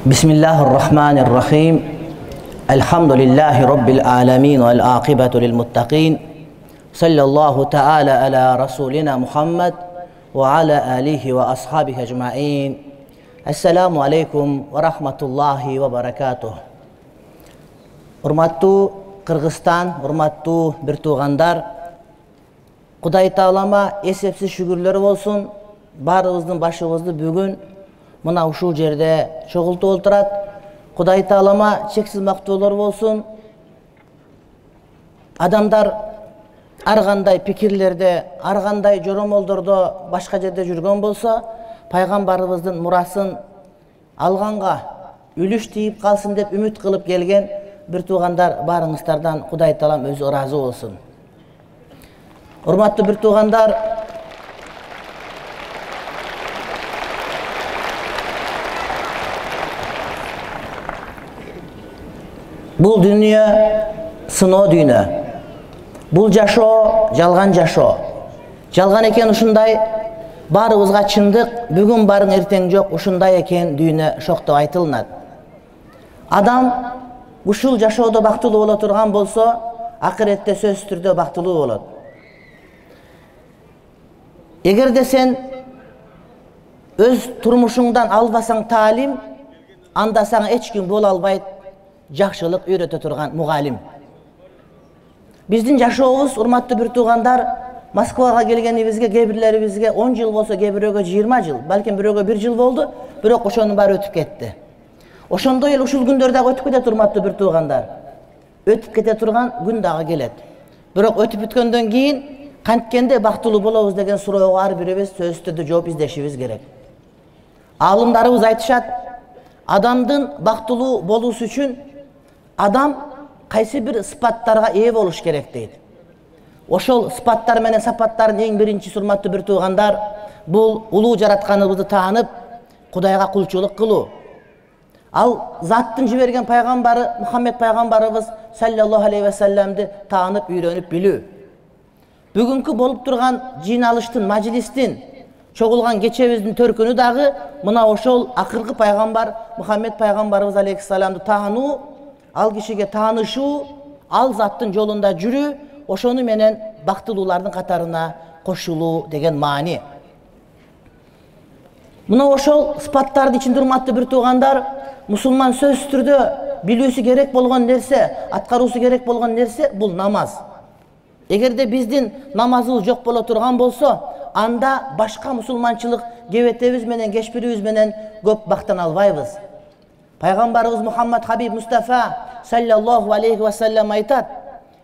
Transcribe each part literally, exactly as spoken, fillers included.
Bismillahirrahmanirrahim. Elhamdülillahi Rabbil alamin vel aqibatu lil muttaqin. Sallallahu ta'ala ala rasulina Muhammed ve ala alihi ve ashabihi ecmaîn. Esselamu aleykum ve rahmetullahi ve berekatuh. Урматтуу Кыргызстан, урматтуу бир туугандар, Кудай Таалама эсепсиз шүгүрлөр болсун. Баарыбыздын башыбызды бүгүн мына ушул жерде чогултуп отурат. Кудай Таалама чексиз мактоолор болсун. Адамдар ар кандай пикирлерде, ар кандай жоромолдордо башка жерде жүргөн болсо, пайгамбарыбыздын мурасын алганга үлүш тийип калсын деп үмүт кылып келген бир туугандар баарыңыздардан Кудай Таалам өзү ыраазы болсун. Урматтуу бир туугандар, бул дүйнө сыноо дүйнө. Бул жашоо жалган жашоо. Жалган экен ушундай, баарыбызга чындык, бүгүн барың эртең жок, ушундай экен дүйнө шоктоп айтылынат. Адам ушул жашоодо бактылуу боло турган болсо, акыретте сөзсүз түрдө бактылуу болот. Эгерде сен өз турмушуңдан албасаң таалим, анда сага эч ким боло албайт жакшылык үйрөтө турган мугалим. Биздин жашообуз, урматтуу бир туугандар, Москвага келгенибизге, кээ бирлерибизге он жыл болсо, кээ бирөөгө жыйырма жыл, балким бирөөгө бир жыл болду, бирок ошонун баары өтүп кетти. Ошондой эле ушул күндөр дагы өтүп кетет, урматтуу бир туугандар. Өтүп кете турган күн дагы келет. Бирок өтүп бүткөндөн кийин канткенде бактылуу болобуз деген суроого ар бирибиз сөзсүз түрдө жооп издешибиз керек. Аалымдарыбыз айтышат, адамдын бактылуу болуусу үчүн адам кайсы бир сыпаттарга ээ болуш керек дейт. Ошол сыпаттар менен сапаттардын эң биринчиси, урматтуу бир туугандар, бул улуу жаратканыбызды таанып, Кудайга кулчулук кылуу. Ал заттын жиберген пайгамбары Мухаммед пайгамбарыбыз саллаллаху алейхи ва салламды таанып, үйрөнүп билүү. Бүгүнкү болуп турган жыйналыштын, мажлистин, чогулган кечебиздин төркүнү дагы мына ошол акыркы пайгамбар Мухаммед пайгамбарыбыз алейхиссаламды таануу, ал кишиге таанышуу, ал заттын жолунда жүрүү, ошону менен бактылуулардын катарына кошулуу деген маани. Мына ошол сыпаттардын ичинде, урматтуу бир туугандар, мусулман сөзсүз түрдө билүүсү керек болгон нерсе, аткаруусу керек болгон нерсе бул намаз. Эгерде биздин намазыбыз жок боло турган болсо, анда башка мусулманчылык кебетебиз менен, кешпирибиз менен көп бактана албайбыз. Пайгамбарыбыз Мухаммад Хабиб Мустафа саллаллаху алейхи ва саллам айтат: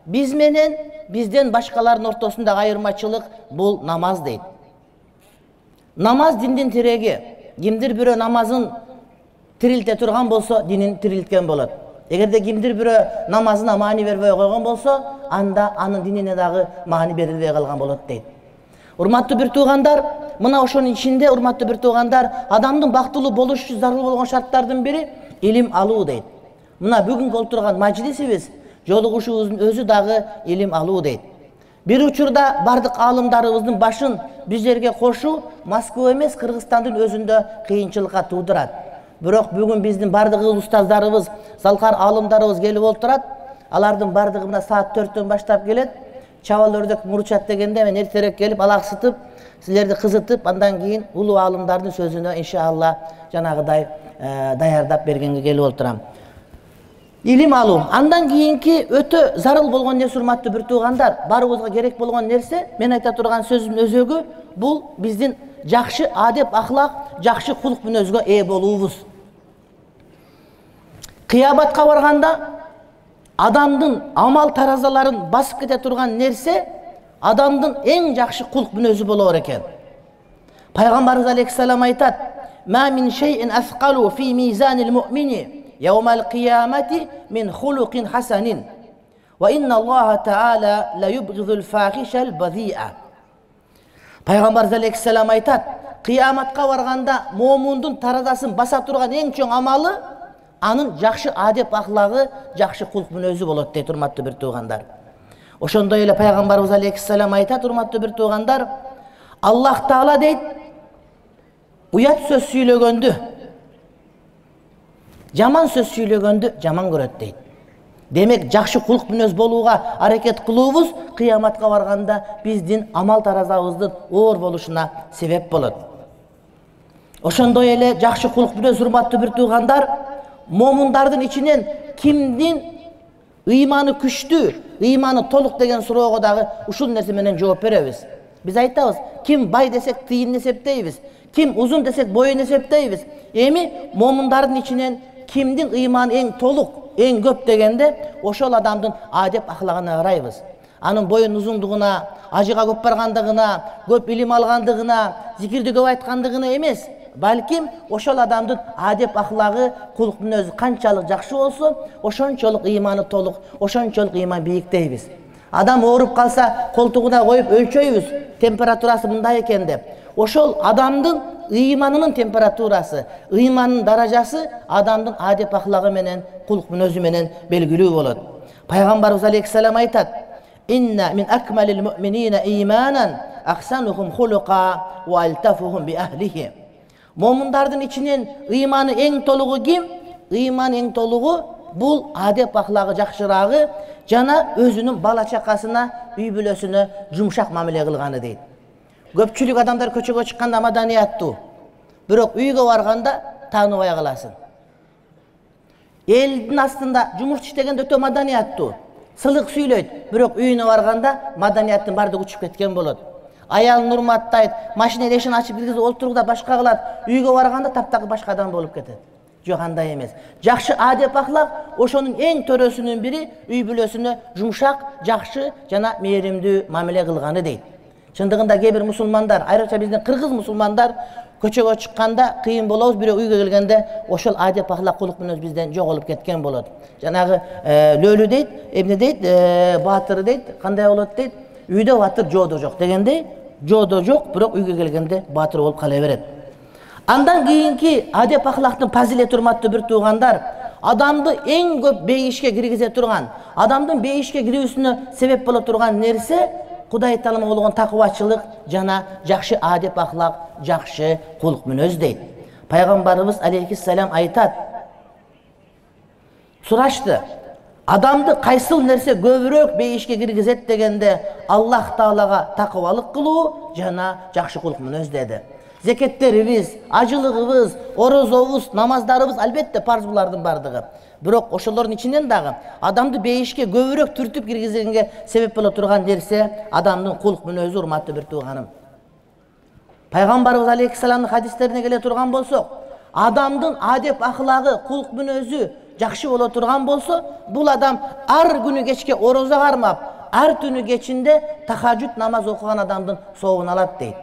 биз менен бизден башкалардын ортосундагы айырмачылык бул намаз дейт. Намаз диндин тиреги. Кимдир бирөө намазын тирилте турган болсо, динин тирилткен болот. Эгерде кимдир бирөө намазына маани бербей койгон болсо, анда анын динине дагы маани берилбей калган болот дейт. Урматтуу бир туугандар, мына ошонун ичинде, урматтуу бир туугандар, адамдын бактылуу болуш үчүн зарыл болгон шарттардын бири илим алуу дейт. Мына бүгүнкү олтурган мажлисибиз, жолугушуубуздун өзү дагы илим алуу дейт. Бир учурда бардык аалымдарыбыздын башын биздерге кошуу Москва эмес, Кыргызстандын өзүндө кыйынчылыкка туудурат. Бирок бүгүн биздин бардык устаздарыбыз, залкар аалымдарыбыз келип отурат. Алардын бардыгы мына саат төрттөн баштап келет. Чабал өрдөк мурчат дегенде мен эртерээк келип, алаксытып, силерди кызытып, андан кийин улуу аалымдардын сөзүнө иншалла жанагыдай даярдап бергенге келип отурам. Илим алуу. Андан кийинки өтө зарыл болгон нерсе, урматтуу бир туугандар, баарыбызга керек болгон нерсе, мен айта турган сөзүмдүн өзөгү бул биздин жакшы адеп, ахлак, жакшы кулук мүнөзгө ээ болуубуз. Кыяматка барганда адамдын амал таразаларын басып кете турган нерсе адамдын эң жакшы кулук мүнөзү болор экен. Пайгамбарыбыз алейхиссалам айтат: "Ма мин шейин асқалу фи мизанил муъмини яумал қиямати мин хулуқин хасанин ва инна Аллаха таала ла юбғидул фахишал базиа." Пайгамбарыбыз алейхиссалам айтат: кыяматка барганда момундун таразасын баса турган эң чоң амалы анын жакшы адеп ахлагы, жакшы кулук мүнөзү болот дейт, урматтуу бир туугандар. Ошондой эле пайгамбарыбыз алейхиссалам айтат, урматтуу бир туугандар, Аллах Таала дейт, уят сөз сүйлөгөндү, Жаман сөз сүйлөгөндү жаман көрөт дейт. Демек жакшы кулк мүнөз болууга аракет кылуубуз кыяматка барганда биздин амал таразабыздын оор болушуна себеп болот. Ошондой эле жакшы кулк мүнөз, урматтуу бир туугандар, момундардын ичинен кимдин ыйманы күчтүү, ыйманы толук деген суроого дагы ушул нерсе менен жооп беребиз. Биз айтабыз, ким бай десек тыйын эсептейбиз, ким узун десек боюн эсептейбиз. Эми момундардын ичинен кимдин ыйманы эң толук, эң көп дегенде ошол адамдын адеп ахлагына карайбыз. Анын боюн узундугуна, ажыга көп баргандыгына, көп илим алгандыгына, зикирди көп айткандыгына эмес, балким ошол адамдын адеп ахлагы, кулк мүнөзү канчалык жакшы болсо, ошончолук ыйманы толук, ошончолук ыйман бийик дейбиз. Адам ооруп калса, колтугуна коюп өлчөйбүз, температурасы мындай экен деп. Ошол адамдын ыйманынын температурасы, ыйманынын даражасы адамдын адеп ахлагы менен, кулк мүнөзү менен белгилүү болот. Пайгамбарыбыз алейхиссалам айтат: "Инна мин акмалил муъминина ийманан ахсанухум хулука ва алтафухум би ахлихи." Момундардын ичинен ыйманы эң толугу ким? Ыйман эң толугу бул адеп ахлагы жакшырагы жана өзүнүн бала чакасына, үй бүлөсүнө жумшак мамиле кылганы дейт. Көпчүлүк адамдар көчөгө чыкканда маданияттуу, бирок үйгө барганда тааныбай каласың. Элдин астында жумуш иштегенде өтө маданияттуу, сылык сүйлөйт, бирок үйүнө барганда маданияттын бардыгы учуп кеткен болот. Аялын урматтайт, машина эшигин ачып киргизип олтуруп башка кылат, үйгө барганда таптакыр башка адам болуп кетет. Жок, андай эмес. Жакшы адеп ахлак ошонун эң төрөсүнүн бири үй бүлөсүнө жумшак, жакшы жана мээримдүү мамиле кылганы дейт. Чындыгында кээ бир мусулмандар, айрыкча биздин кыргыз мусулмандар көчөгө чыкканда кыйын болобуз, бирок үйгө келгенде ошол адеп ахлак, кулк мүнөз бизден жоголуп кеткен болот. Жанагы лөлү дейт, эмне дейт, баатыр дейт, кандай болот дейт, үйдө баатыр, жоодо жок дегендей, жоодо жок, бирок үйгө келгенде баатыр болуп кала берет. Андан кийинки адеп ахлактын фазилети, урматтуу бир туугандар, адамды эң көп бейишке киргизе турган, адамдын бейишке кирүүсүнө себеп боло турган нерсе Кудай таалага болгон такыбачылык жана жакшы адеп ахлак, жакшы кулк мүнөз дейт. Пайгамбарыбыз алейхиссалам айтат: сурашты, адамды кайсыл нерсе көбүрөөк бейишке киргизет дегенде, Аллах таалага такыбалык кылуу жана жакшы кулк мүнөз деди. Зекеттерибиз, ажылыгыбыз, орозобуз, намаздарыбыз албетте парз булардын бардыгы. Бирок ошолордун ичинен дагы адамды бейишке көбүрөөк түртүп киргизгенге себеп боло турган нерсе адамдын кулк мүнөзү, урматтуу бир тууганым. Пайгамбарыбыз алейхиссаламдын хадистерине келе турган болсок, адамдын адеп ахлагы, кулк мүнөзү жакшы боло турган болсо, бул адам ар күнү кечке орозо кармап, ар түнү кечинде тахажжуд намаз окуган адамдын сообун алат дейт.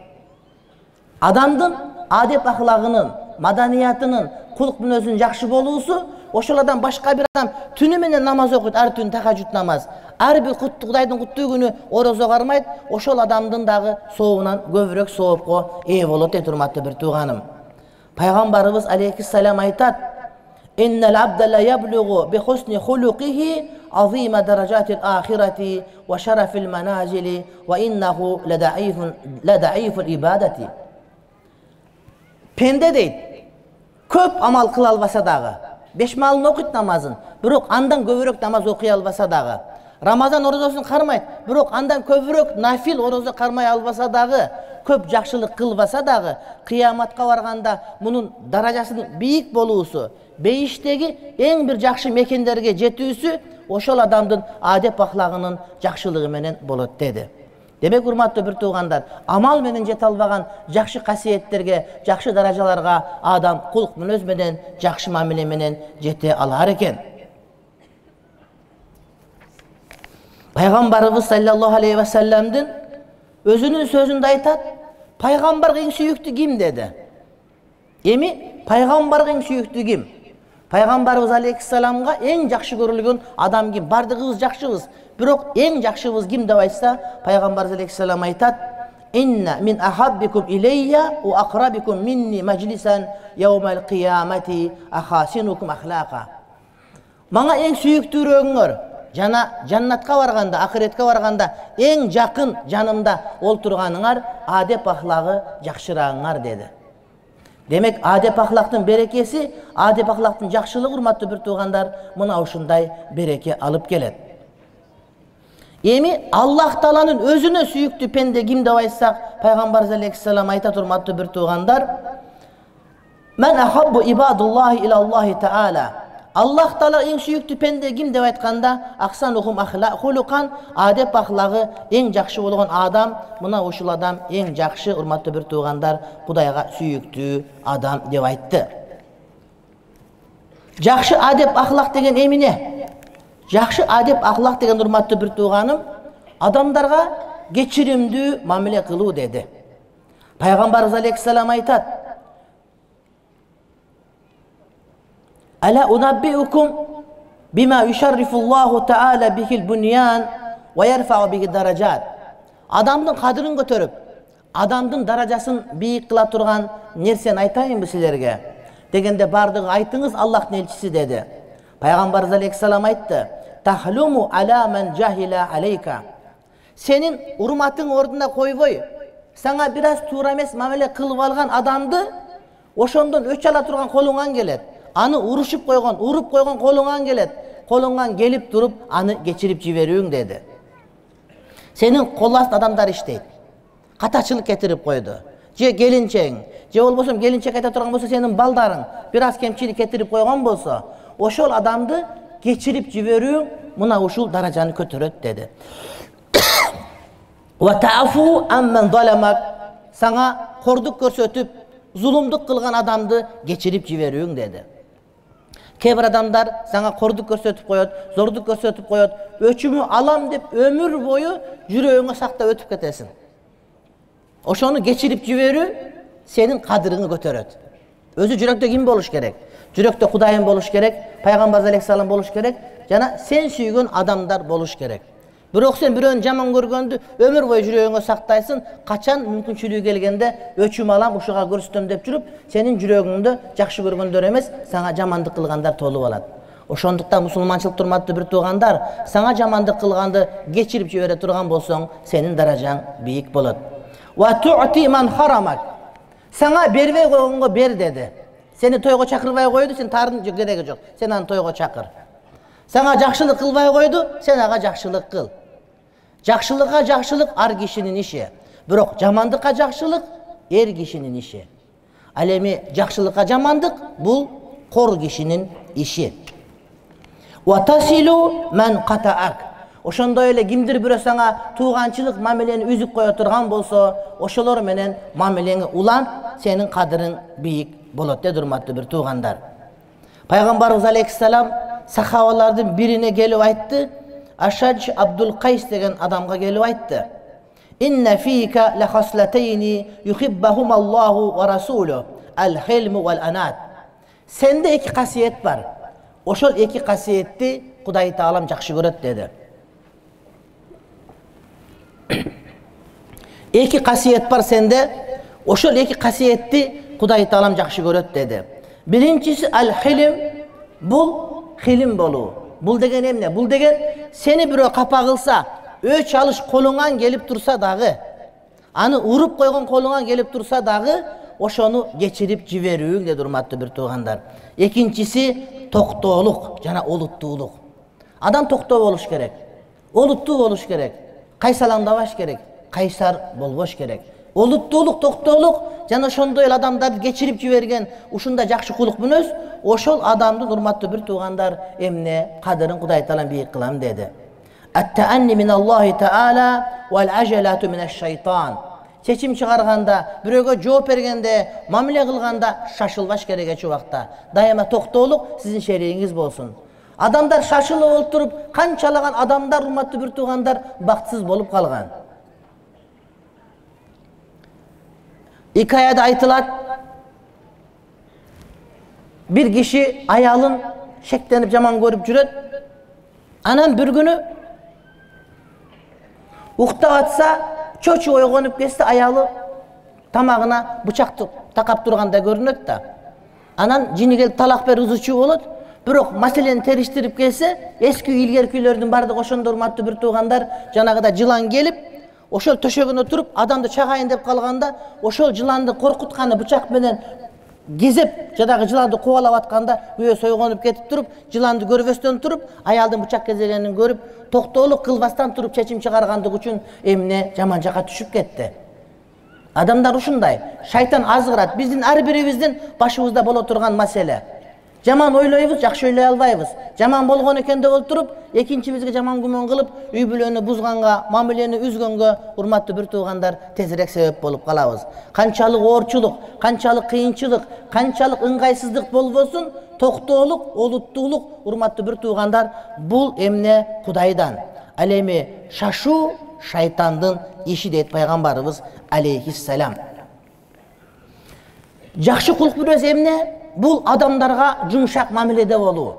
Адамдын адеп ахлагынын, маданиятынын, кулк мүнөзүнүн жакшы болуусу ошол адам башка бир адам түнү менен намаз окуйт, ар түн тахажжуд намаз, ар бир Кудайдын куттуу күнү орозо кармайт, ошол адамдын дагы сообунан көбүрөөк соопко ээ болот дейт, урматтуу бир тууганым. Пайгамбарыбыз алейхиссалам айтат: "Иннал абда ла яблугу би хусни хулуқихи азима даражатил ахирати ва шарафил маназили ва иннаху ладаифун ладаифул ибадати." Пенде дейт, көп амал кыла албаса дагы, беш малын окуйт намазын, бирок андан көбүрөөк намаз окуй албаса дагы, Рамазан орозосун кармайт, бирок андан көбүрөөк нафил орозо кармай албаса дагы, көп жакшылык кылбаса дагы, кыяматка барганда мунун даражасынын бийик болуусу, бейиштеги эң бир жакшы мекендерге жетүүсү ошол адамдын адеп ахлагынын жакшылыгы менен болот деди. Демек, урматтуу бир туугандар, амал менен жете албаган жакшы касиеттерге, жакшы даражаларга адам кулк мүнөз менен, жакшы мамиле менен жете алар экен. Пайгамбарыбыз саллаллаху алейхи ва салламдын өзүнүн сөзүндө айтат: "Пайгамбарга эң сүйүктүү ким?" деди. Эми пайгамбарга эң сүйүктүү ким? Пайгамбарыбыз алейхиссаламга эң жакшы көрүлгөн адам ким? Бардыгыбыз жакшыбыз, бирок эң жакшыбыз ким деп айтса, пайгамбарыбыз алейхиссалам айтат: "Инна мин ахаббикум илейя ва акрабикум минни маджлисан яумал кыямати ахасинукум ахлака." Мага эң сүйүктүүрөөңөр жана жаннатка барганда, ахиретке барганда эң жакын жанымда олтурганыңар адеп ахлагы жакшыраагыңар деди. Демек адеп ахлактын берекеси, адеп ахлактын жакшылыгы урматтуу бир туугандар мына ушундай береке алып келет. Эми Аллах Тааланын өзүнө сүйүктүү пенде ким деп айтсак, пайгамбарыбыз алейхиссалам айтат урматтуу бир туугандар: "Мен ахаббу ибадуллахи илаллахи таала." Аллах Таала эң сүйүктүү пенде ким деп айтканда, ахсанухум ахлакан, адеп ахлагы эң жакшы болгон адам, мына ушул адам эң жакшы урматтуу бир туугандар, Кудайга сүйүктүү адам деп айтты. Жакшы адеп ахлак деген эмне? Жакшы адеп ахлак деген урматтуу бир тууганым, адамдарга кечиримдүү мамиле кылуу деди. Пайгамбарыбыз алейхиссалам айтат: "Ала унаббиукум бима юшаррифуллаху таала бихил буньян ва ярфау биги даражат." Адамдын кадырын көтөрүп, адамдын даражасын бийик кыла турган нерсени айтайынбы силерге? Дегенде бардыгы айтыңыз, Аллахтын элчиси деди. Пайгамбарыбыз алейхиссалам айтты: "Тахлуму ала ман жахила алейка." Сенин урматың ордуна койбой, сага бир аз туура эмес мамиле кылып алган адамды ошондон өч ала турган колуңан келет. Аны урушуп койгон, уруп койгон колуңан келет. Колуңан келип туруп, аны кечирип жиберүүң деди. Сенин кол аст адамдар иштейт. Катачылык кетирип койду. Же келинчең, же болбосо келинчек айта турган болсо сенин балдарың бир аз кемчилик кетирип койгон болсо, ошол адамды кечирип жиберүү мына ушул даражаны көтөрөт деди. Ва тафу амман заламак, сага кордук көрсөтүп, зулумдук кылган адамды кечирип жиберүүң деди. Кээ бир адамдар сага кордук көрсөтүп коет, зордук көрсөтүп коет, өчүмү алам деп өмүр бою жүрөгүңө сактап өтүп кетесиң. Ошону кечирип жиберүү сенин кадырыңы көтөрөт. Өзү жүрөктө ким болуш керек? Жүрөктө Кудайым болуш керек, пайгамбар алейхиссалам болуш керек, жана сен сүйгөн адамдар болуш керек. Бирок сен бирөөнү жаман көргөндү өмүр бою жүрөгүңө сактайсың, качан мүмкүнчүлүгү келгенде өчүм алам, ушуга көрсөтөм деп жүрүп, сенин жүрөгүңдө жакшы көргөндөр эмес, сага жамандык кылгандар толуп алат. Ошондуктан мусулманчылык турматтуу бир туугандар, сага жамандык кылганды кечирип жибере турган болсоң, сенин даражаң бийик болот. Ва ту'ти ман харамак. Сага бербей койгонго бер деди. Сени тойго чакырбай койду, сен тарын кереги жок. Сен аны тойго чакыр. Сага жакшылык кылбай койду, сен ага жакшылык кыл. Жакшылыкка жакшылык ар кишинин иши. Бирок жамандыкка жакшылык эр кишинин иши. Ал эми жакшылыкка жамандык бул кор кишинин иши. Ва тасилу ман катаак. Ошондой эле кимдир бирөө сага тууганчылык мамилени үзүп кое турган болсо, ошолор менен мамилеңи улан, сенин кадырың бийик болот деди урматтуу бир туугандар. Пайгамбарыбыз алейхиссалам сахабалардын бирине келип айтты, Ашадж Абдул Кайс деген адамга келип айтты: "Инна фика ла хаслатайни юхиббахум Аллаху ва расулу, ал-хилму вал анат." Сенде эки касиет бар. Ошол эки касиетти Кудай Таалам жакшы көрөт деди. Эки касиет бар сенде, ошол эки касиетти Кудай Таалам жакшы көрөт деди. Биринчиси ал-хилм, бул хилим болуу. Бул деген эмне? Бул деген сени бирөө капа кылса, өч алыш колуңан келип турса дагы, аны уруп койгон колуңан келип турса дагы, ошону кечирип жиберүүң деди урматтуу бир туугандар. Экинчиси токтоолук жана олуттуулук. Адам токтоо болуш керек. Олуттуу болуш керек. Кайсалаңдабаш керек. Кайсар болбош керек. Олуттуулук, токтоолук жана ошондой эле адамдарды кечирип жиберген ушундай жакшы кулук мүнөз, ошол адамдын урматтуу бир туугандар эмне кадырын Кудай Таалам бийик кылам деди. Ат-таанни миналлахи таала вал ажалату минаш-шайтан. Чечим чыгарганда, бирөөгө жооп бергенде, мамиле кылганда шашылбаш керек эч убакта. Дайыма токтоолук сиздин шеригиңиз болсун. Адамдар шашылып отуруп, канчалаган адамдар урматтуу бир туугандар бактысыз болуп калган. Икаяда айтылат, bir kişi ayalın şeklenip jaman görüp жүрөт. Anam bir günü uktap atsa, çoçu oygonup kesse ayalı tamagına bıçak takap durganda görünөт da. Anan jini kelip talak beri uzuçu bolot. Бирок маселени териштирип келсе, эски илгеркилердин бардыгы ошондо урматтуу бир туугандар, жанагыда жылан келип, ошол төшөгүнө туруп, адамды чагайын деп калганда, ошол жыланды коркутканы бычак менен кезеп жадагы жыланды кубалап атканда күйөө сойгонуп кетип туруп, жыланды көрбөстөн туруп, аялдын бычак кезегенин көрүп, токтоолук кылбастан туруп чечим чыгаргандык үчүн эмне жаман жакка түшүп кетти. Адамдар ушундай. Шайтан азгырат. Биздин ар бирибиздин башыбызда боло турган маселе. Жаман ойлойбуз, жакшы ойлой албайбыз. Жаман болгон экен деп отуруп, экинчибизге жаман күмөн кылып, үй бүлөнү бузганга, мамилени үзгөнгө, урматтуу бир туугандар, тезирээк себеп болуп калабыз. Канчалык оорчулук, канчалык кыйынчылык, канчалык ыңгайсыздык болбосун, токтоолук, олуттуулук, урматтуу бир туугандар, бул эмне Кудайдан. Ал эми шашуу шайтандын иши дейт пайгамбарыбыз алейхиссалам. Жакшы кулк бирөөсү эмне? Бул адамдарга жумшак мамиледе болуу,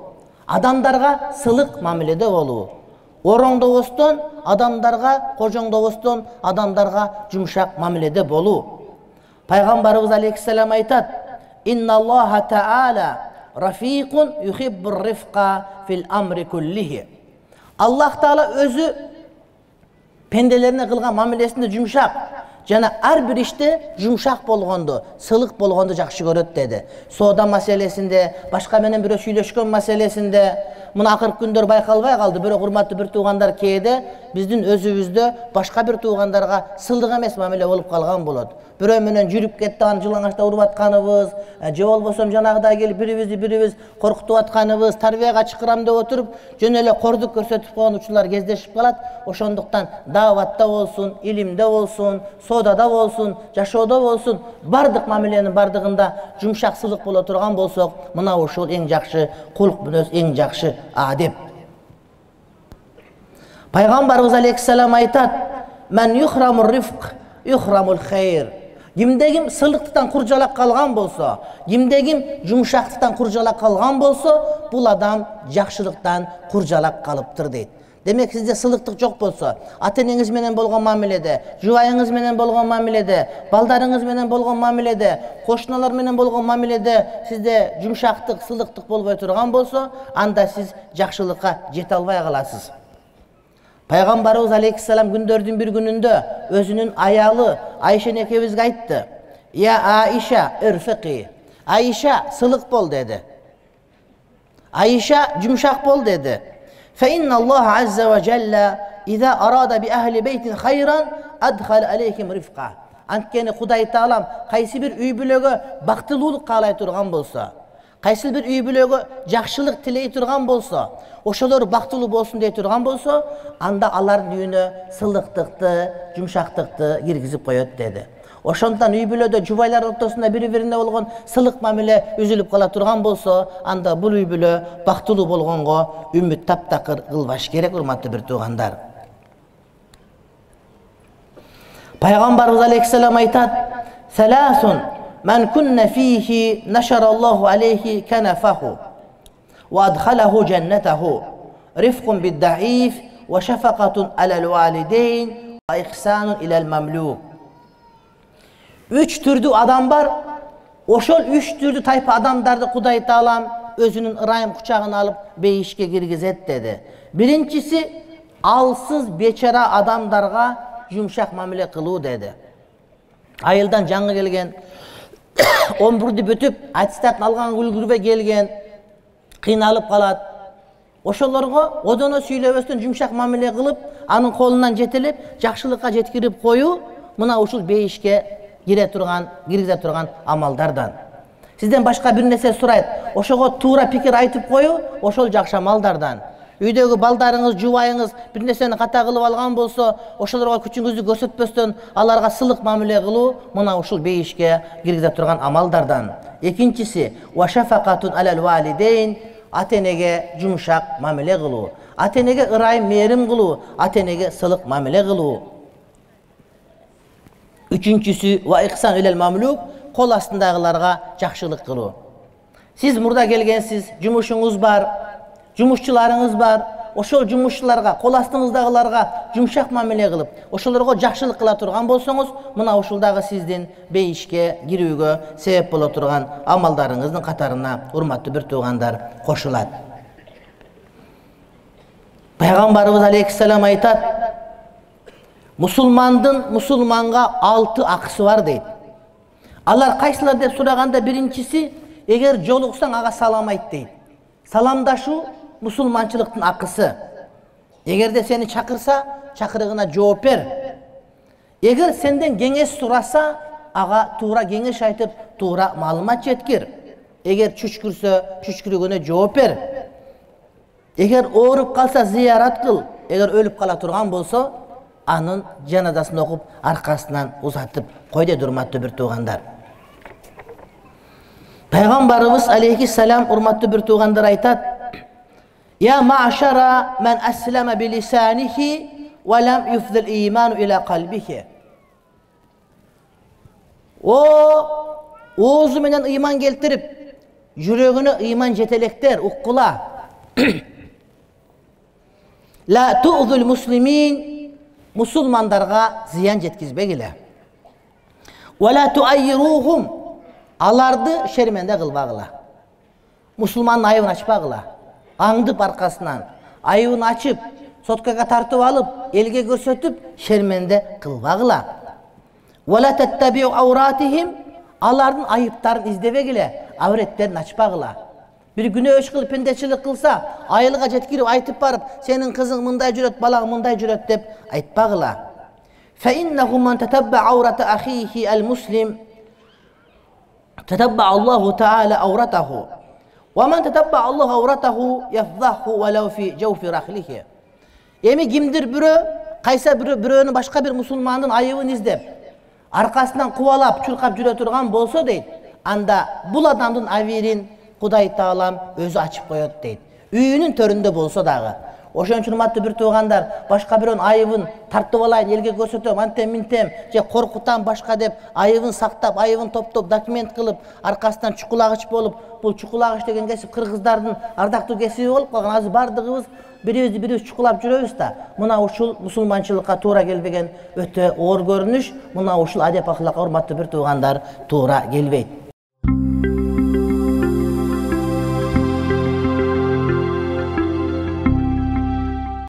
адамдарга сылык мамиледе болуу, ороңдобостон, адамдарга кожоңдобостон, адамдарга жумшак мамиледе болуу. Пайгамбарыбыз алейхиссалам айтат: "Инналлаха таала рафиқун юхиббур рифқа фил амри куллихи." Аллах таала өзү пенделерине кылган мамилесинде жумшак жана ар бир иште жумшак болгонду, сылык болгонду жакшы көрөт деди. Соода маселесинде, башка менен бирөө сүйлөшкөн маселесинде, мына акыркы күндөр байкалбай калды, бирок урматтуу бир туугандар кээде биздин өзүбүздө башка бир туугандарга сылдык эмес мамиле болуп калган болот. Бирөө менен жүрүп кетти, аны жылаңачта уруп атканыбыз, же болбосо жанагыдай келип бирибизди бирибиз коркутуп атканыбыз, тарбияга чакырам деп отуруп, жөн эле кордук көрсөтүп койгон учурлар кездешип калат. Ошондуктан дааватта болсун, илимде болсун, соодада болсун, жашоодо болсун, бардык мамиленин бардыгында жумшак сылык боло турган болсок, мына ушул эң жакшы кулк мүнөз, эң жакшы адеп. Пайгамбарыбыз алейхиссалам айтат: "Мен юхрамур рифқ, юхрамул хайр." Кимде ким сылыктан куржалак калган болсо, кимде ким жумшактыктан куржалак калган болсо, бул адам жакшылыктан куржалак калыптыр дейт. Демек сизде сылыктык жок болсо, ата-энеңиз менен болгон мамиледе, жубайыңыз менен болгон мамиледе, балдарыңыз менен болгон мамиледе, кошуналар менен болгон мамиледе сизде жумшактык, сылыктык болбой турган болсо, анда сиз жакшылыкка жете албай каласыз. Пайгамбарыбыз алейхиссалам күндөрдүн бир күнүндө өзүнүн аялы Айша экебизге айтты: "Я Аиша, ирфиqi." Айша, сылык бол деди. Айша, жумшак бол деди. "Fa inna Allah azza wa jalla idha arada bi ahli baytin khayran adkhala alayhim rifqa." Анткени Кудай Таалам кайсы бир үй бүлөгө бактылуулук каалай турган болсо, кайсы бир үй бүлөгө жакшылык тилей турган болсо, ошолор бактылуу болсун дей турган болсо, анда алардын үйүнө сылыктыкты, жумшактыкты киргизип коет деди. Ошондон үй бүлөдө жубайлар ортосунда бири-бирине болгон сылык мамиле үзүлүп кала турган болсо, анда бул үй бүлө бактылуу болгонго үмүт таптакыр кылбаш керек, урматтуу бир туугандар. Пайгамбарыбыз алейхиссалам айтат: "Саласун man kunna fihi nasharallahu alayhi kanafahu wa adkhalahu jannatahu rifqun bid-da'if wa shafaqatun 'alal walidayn wa ihsanun ilal mamluk." Üç türdүү адам бар. Ошол үч түрдүү тайпа адамдарды Кудай Таалам өзүнүн ырайым кучагына алып бейишке киргизет деди. Биринчиси алсыз бечара адамдарга жумшак мамиле кылуу деди. Айылдан жаңы келген, он бирди бүтүп, аттестатын алган үлгүрбөй келген, кыйналып калат. Ошолорго одоно сүйлөбөстөн жумшак мамиле кылып, анын колунан жетелеп, жакшылыкка жеткирип коюу мына ушул бейишке кире турган, киргизе турган амалдардан. Сизден башка бир нерсе сурайт, ошого туура пикир айтып коюу ошол жакшы амалдардан. Үйдөгү балдарыңыз, жубайыңыз бир нерсени ката кылып алган болсо, ошолорго күчүңүздү көрсөтпөстөн аларга сылык мамиле кылуу мына ушул бейишке киргизе турган амалдардан. Экинчиси ва шафакатун алал валидейн, ата-энеге жумшак мамиле кылуу, ата-энеге ырайым мээрим кылуу, ата-энеге сылык мамиле кылуу. Үчүнчүсү ва ихсан илал мамлук, кол астындагыларга жакшылык кылуу. Сиз мурда келгенсиз, жумушуңуз бар, жумушчуларыңыз бар. Ошол жумушчуларга, кол астыңыздагыларга жумшак мамиле кылып, ошолорго жакшылык кыла турган болсоңуз, мына ушулдагы сиздин бейишке кирүүгө себеп боло турган амалдарыңыздын катарына, урматтуу бир туугандар, кошулат. Пайгамбарыбыз алейхиссалам айтат: "Мусулмандын мусулманга алты акысы бар" дейт. Алар кайсылар деп сураганда биринчиси, эгер жолуксаң ага салам айт дейт. Саламдашуу мусулманчылыктын акысы. Эгерде сени чакырса, чакырыгына жооп бер. Эгер сенден кеңеш сураса, ага туура кеңеш айтып, туура маалымат жеткир. Эгер чүчкүрсө, чүчкүрүгүнө жооп бер. Эгер ооруп калса, зыярат кыл. Эгер өлүп кала турган болсо, анын жаназасын окуп, аркасынан узатып кой дейт, урматтуу бир туугандар. Пайгамбарыбыз алейхиссалам, урматтуу бир туугандар, айтат: "Я ма'шара мен аслама билисанихи ва лам юфдил иману ила калбихи." О, оозу менен ыйман келтирип, жүрөгүнө ыйман жетелектер, уккула. La tu'zul muslimin, musulmanдарга зыян жеткизбегиле. Wa la tu'ayyiruhum, аларды шерменде кылбагыла. Мусулмандын айыбын ачпагыла. Аңдып аркасынан айыбын ачып, соткага тартып алып, элге көрсөтүп, шерменде кылбагыла. Wa la tattabi'u awratihim, алардын айыптарын издебегиле, авреттерин ачпагыла. Bir günөөш кылып, пендечилик кылса, айылга жеткирип айтып барып, сенин кызың мындай жүрөт, балаң мындай жүрөт деп айтпагыла. Fa innahu man tatabba awrata akhihi al-muslim tatabba Allahu ta'ala awratahu. Wa man tatabba Allahu awratahu yafdahu walau fi jawfi rahlihi. Эми кимдир бирөө, кайса бирөө бирөөнүн башка бир мусулмандын айыбын издеп, аркасынан кубалап, чуркап жүрө турган болсо дейт, анда бул адамдын абийирин Кудай Таалам өзү ачып коет дейт. Үйүнүн төрүндө болсо дагы. Ошон үчүн урматтуу бир туугандар, башка бирөөнүн айыбын тартып алайын, элге көрсөтөм, антем минтем, же коркутам башка деп айыбын сактап, айыбын топтоп, документ кылып, аркасынан чукулагыч болуп, бул чукулагыч деген кесип кыргыздардын ардактуу кесиби болуп калган. Азыр бардыгыбыз бирибизди бирибиз чукулап жүрөбүз да. Мына ушул мусулманчылыкка туура келбеген өтө оор көрүнүш, мына ушул адеп ахлакка урматтуу бир туугандар туура келбейт.